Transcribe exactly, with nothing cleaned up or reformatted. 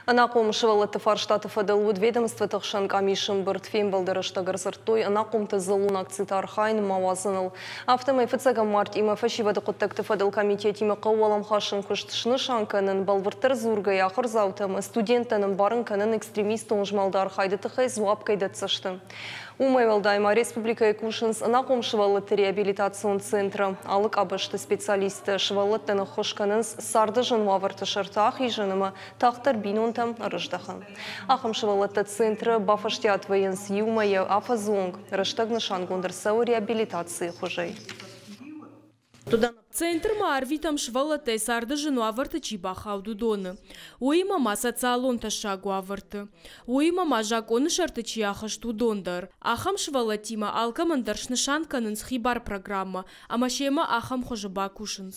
Ӕнахъом сывӕллӕтты фарстаты фӕдыл уыд ведомствоты хсӕн къамисы ӕмбырд. Фембӕлды рӕстӕг ӕрдзырдтой ӕнахъомты дзыллон акциты архайын ма уадзыныл. Афтӕмӕй фыццӕгӕм мартъимӕ фӕсивӕды хъуыддӕгты фӕдыл комитетимӕ хъӕуы уӕлӕмхасӕн куыст снысан кӕнын, бӕлвырддӕр дзургӕйӕ, ахуырдзаутӕ ӕмӕ студенттӕн ӕмбарын кӕнын, экстремистон змӕлды архайды тыххӕй дзуапп кӕй дӕтдзысты. Уымӕй уӕлдай ма республикӕйы кусынц ӕнахъом сывӕллӕтты реабилитацион центры. Алы къабӕзты специалисттӕ сывӕллӕттӕн ӕххуыс кӕнынц царды зын уавӕрты сӕрты ахизын ӕмӕ тагъддӕр бинонтӕм ӕрыздӕхын. Ахӕм сывӕллӕттӕ центры бафӕстиат вӕййынц иу мӕйӕ афӕдзы онг. Рӕстӕг нысангонд ӕрцӕуы реабилитацийы хуызӕй. Центрмӕ арвитӕм сывӕллӕттӕй царды зын уавӕрты чи бахауд, уыдоны. Уыимӕ ма социалон тӕссаг уавӕрты. Уыимӕ ма закъоны сӕрты чи ахызт, уыдон дӕр. Ахӕм сывӕллӕттимӕ алкӕмӕн дӕр снысан кӕнынц хибар программӕ ӕмӕ семӕ ахӕм хуызы бакусынц.